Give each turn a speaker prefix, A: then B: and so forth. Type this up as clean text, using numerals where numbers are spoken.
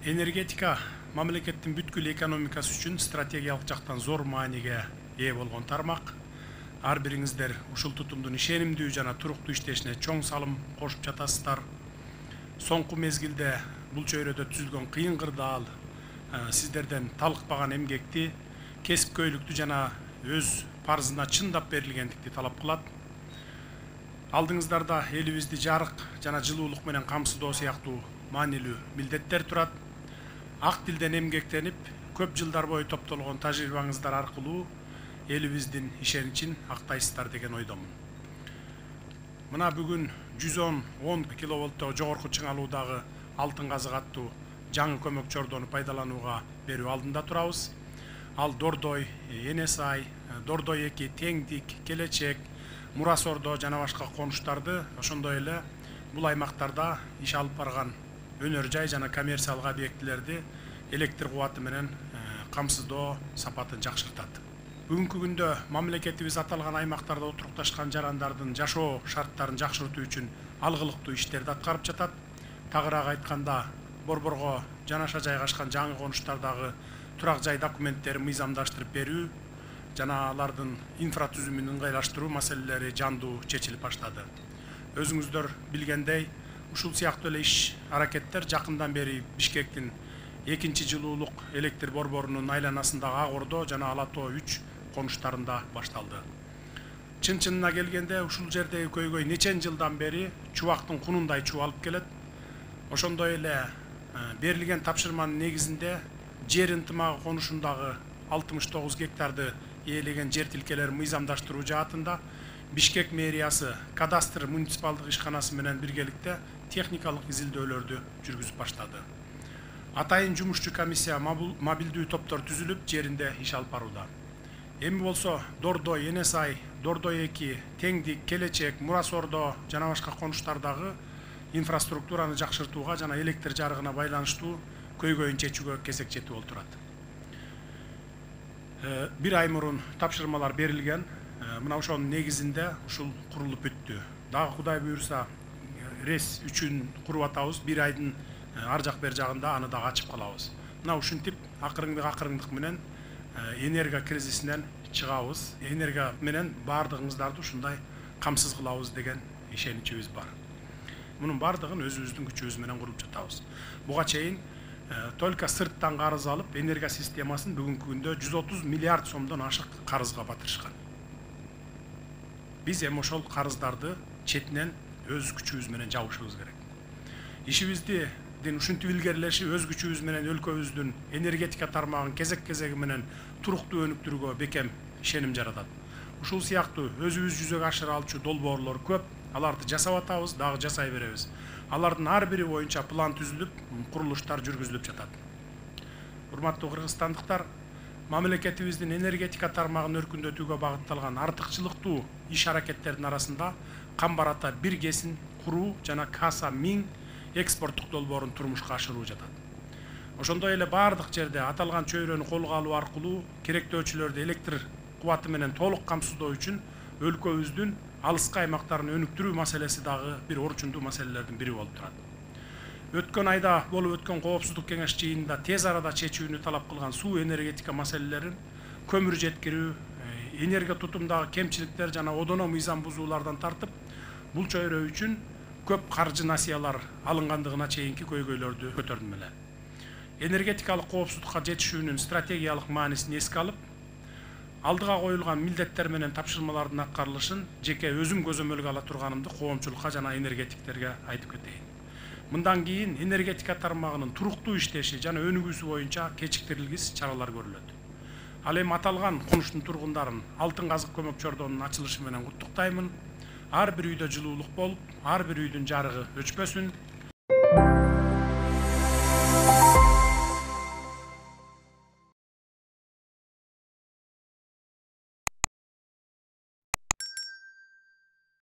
A: Энергетика мамлекеттин бүткүл экономикасы үчүн стратегиялык жактан зор мааниге ээ болгон тармак. Ар бириңиздер ушул тутумдун ишенимдүү жана туруктуу иштешине чоң салым кошуп жатасыздар. Соңку мезгилде бул чөйрөдө түзүлгөн кыйын кырдаал сиздерден талыкпаган эмгекти, кесипкөйлүктү жана өз парзына чындап берилгендикти талап кылат. Алдыңыздарда элибизди жарык жана жылуулук менен камсыздоо сыяктуу маанилүү милдеттер турат. Ак тилден эмгектенип, көп жылдар бою топтолгон тажрыйбаңыздар аркылуу элибиздин ишеничин актайсыздар деген ойдомун. Мына бүгүн 110 киловольттогу жогорку чыңалуудагы алтын казык аттуу жаңы көмөк чордону пайдаланууга берүү алдында турабыз. Ал Дордой, Энесай, Дордой 2, Теңдик, Келечек, Мурас Ордо жана башка конуштарды, ошондой эле бул аймактарда иш алып барган өнөр жай жана коммерциялык объектилерди электр кубаты менен камсыздоо сапатын жакшыртат. Бүгүнкү күндө мамлекетибиз аталган аймактарда отурукташкан жарандардын жашоо шарттарын жакшыртуу үчүн алгылыктуу иштерди аткарып жатат. Тагыраак айтканда, борборго жанаша жайгашкан жаңы конуштардагы турак жай документтерин мыйзамдаштырып берүү жана алардын инфратүзүмүн ыңгайлаштыруу маселелери жандуу чечилип баштады. Өзүңүздөр билгендей, ушул сыяктуу эле иш аракеттер жакындан бери Бишкектин 2 жылуулук электр борборунун айланасындагы Ак Ордо жана Ала Тоо 3 конуштарында башталды. Чын-чынына келгенде ушул жердеги көйгөй нечен жылдан бери чубактын кунундай чубалып келет. Ошондой эле берилген тапшырманын негизинде жер ынтымагы конушундагы 69 гектарды ээлеген жер тилкелерин мыйзамдаштыруу жаатында Бишкек мэриясы кадастр муниципалдык ишканасы менен биргеликте техникалык изилдөөлөрдү жүргүзүп баштады. Атайын жумушчу комиссия мобилдүү топтор түзүлүп, жеринде иш алып барууда. Эми болсо Дордой, Энесай, Дордой 2, Теңдик, Келечек, Мурас Ордо жана башка конуштардагы инфраструктураны жакшыртууга жана электр жарыгына байланыштуу көйгөйүн чечүүгө кезек жетип олтурат. Бир ай мурун тапшырмалар берилген. Мына ошонун негизинде ушул курулуп бүттү. Дагы Кудай буйруса рес 3-үн куруп атабыз. Бир айдын ар жак бер жагында аны дагы ачып калабыз. Мына ушинтип акырындык менен энерго кризисинен чыгабыз. Энерго менен баардыгыңыздарды ушундай камсыз кылабыз деген ишеничибиз бар. Мунун баардыгын өзүбүздүн күчүбүз менен куруп жатабыз. Буга чейин только сырттан карыз алып, энерго системасын бүгүнкү күндө 130 миллиард сомдон ашык карызга батырышкан. Биз эми ошол карыздарды четинен өз күчүбүз менен жабышыбыз керек. Ишибиздин ушинтип илгерилеши өз күчүбүз менен өлкөбүздүн энергетика тармагын кезек-кезеги менен туруктуу өнүктүрүүгө бекем ишеним жаратат. Ушул сыяктуу өзүбүз жүзөгө ашыра алчу долбоорлор көп. Аларды жасап атабыз, дагы жасай беребиз. Алардын ар бири боюнча план түзүлүп, курулуштар жүргүзүлүп жатат. Урматтуу кыргызстандыктар, мамлекетибиздин энергетика тармагын өркүндөтүүгө багытталган артыкчылыктуу иш аракеттердин арасында Камбар Ата 1 КЭСин куруу жана Каса 1000 экспорттук долбоорун турмушка ашыруу жатат. Ошондой эле баардык жерде аталган чөйрөнү колго алуу аркылуу керектөөчүлөрдү электр кубаты менен толук камсыздоо үчүн өлкөбүздүн алыскы аймактарын өнүктүрүү маселеси дагы бир орчундуу маселелердин бири болуп турат. Өткөн айда болуп өткөн коопсуздук кеңеш жыйынында тез арада чечүүнү талап кылган суу энергетика маселелерин, көмүр жеткирүү, энерго тутумдагы кемчиликтер жана одоно мыйзам бузуулардан тартып, бул чөйрө үчүн көп каржы насыялар алынгандыгына чейинки көйгөйлөрдү көтөрдүм эле. Энергетикалык коопсуздукка жетишүүнүн стратегиялык маанисин эске алып, алдыга коюлган милдеттер менен тапшырмалардын аткарылышын жеке өзүм көзөмөлгө ала турганымды коомчулукка жана энергетиктерге айтып кетейин. Мындан кийин энергетика тармагынын туруктуу иштеши жана өнүгүүсү боюнча кечиктирилгис чаралар көрүлөт. Ал эми аталган конуштун тургундарын алтын казык көмөк чордонун ачылышы менен куттуктаймын. Ар бир үйдө жылуулук болуп, ар бир үйдүн жарыгы өчпөсүн.